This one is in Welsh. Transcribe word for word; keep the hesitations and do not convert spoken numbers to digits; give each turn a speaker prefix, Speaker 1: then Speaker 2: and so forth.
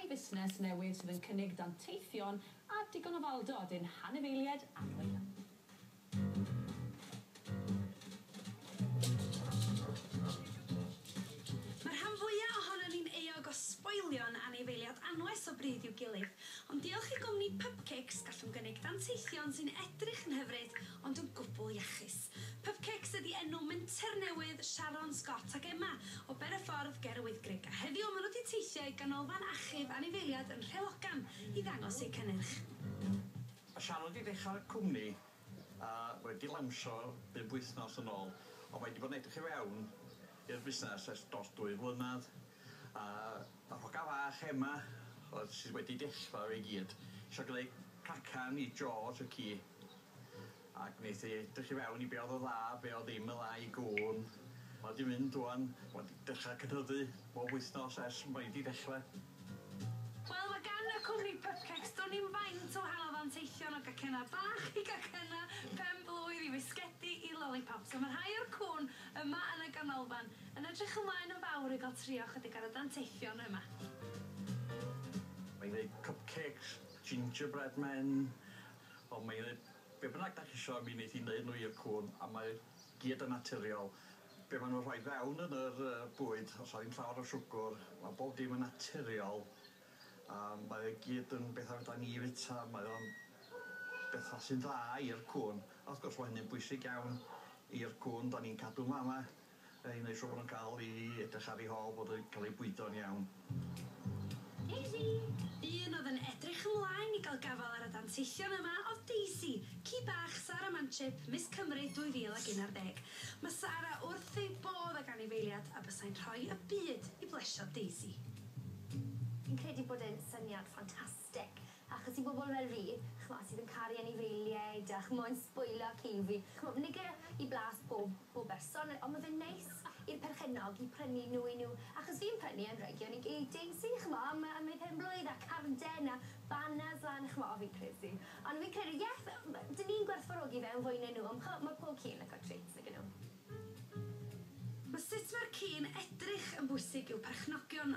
Speaker 1: fusnes newydd sydd yn cynnig danteithion a digon o faldod i'n hanifeiliaid annwyl.
Speaker 2: Mae'r rhan fwyaf ohonon ni'n euog o sboilion anifeiliaid anwes o bryd i'w gilydd, ond diolch i gwmni Pupcakes gallwn gynnig danteithion sy'n edrych yn hyfryd ond yn gwbl iachus. Pupcakes ydy enw menter newydd Sharon Scott ac Emma o Bereffordd ger y Wyddgrug, a heddiw maen nhw wedi teithio i ganolfan achub anifeiliaid yn Nhrelogan i ddangos eu cynnyrch.
Speaker 3: Mae Sharon wedi dechrau'r cwmni a wedi lawnsio bum wythnos yn ôl, ond mae wedi bod yn edrych i fewn i'r busnes ers dros dwy flynedd, a yr hoga fach Emma oedd sydd wedi dechrau i gyd isio gwneud cacan i George y ci, ac wnaeth hi edrych i fewn i be oedd yn dda, be oedd ddim yn dda i gŵn. Mae wedi mynd ŵan, wedi dechrau cynyddu bob wythnos ers mae wedi dechrau.
Speaker 2: Wel, mae gan y cwmni Pupcakes do'n i'm faint o wahanol ddanteithion o gacenna bach i gacenna pen blwydd i fisgedi i lollipops. A mae rhai o'r cŵn yma yn y ganolfan yn edrych ymlaen yn fawr i gael trio chydig ar y danteithion yma.
Speaker 3: Mae'n gwneud cupcakes, gingerbread men, ond mae'n gwneud be bynnag da chi isio, mi wneith hi wneud nhw i'r cŵn, a mae gyd yn naturiol. Be maen nhw'n rhoi fewn yn yr uh, bwyd, os oedd ddim llawer o siwgr, mae bob dim yn naturiol, a mae o gyd yn bethau fedra ni fita, mae o'n bethau sy'n dda i'r cŵn. A wrth gwrs mae hynny'n bwysig iawn i'r cŵn, da ni'n cadw mama, i wneud siŵr bod nhw'n cael ei edrych ar ei hôl, bod nhw'n cael eu bwydo'n iawn.
Speaker 2: Daisy! Un oedd yn edrych ymlaen i gael gafael ar y danteithion yma oedd Daisy, ci bach Sara Manchip, Miss Cymru dwy fil ac un ar ddeg. Mae Sara wrth ei bodd ag anifeiliad a bysai'n rhoi y byd i blesio Daisy.
Speaker 4: Fi'n credu bod e'n syniad ffantastig, achos i bobl fel fi, ch'mo', sydd yn caru anifeiliaid a ch'mo' yn sbwylo ci fi, ch'mo', nige i blas pob, pob berson, ond ma' fe'n neis i'r perchennog i prynu nhw i nhw, achos fi'n prynu anregion i, i Daisy, ch'mo', am, am ei pen blwydd a carden a banners lan, ch'mo', fi'n credu. Ond fi'n credu, ie, dyn ni'n gwerthfawrogi fe yn fwy na nhw, ond ch'mo', mae pob ci'n licio treats nag 'yn nhw.
Speaker 2: Mae sut mae'r ci'n edrych yn bwysig i'w perchnogion.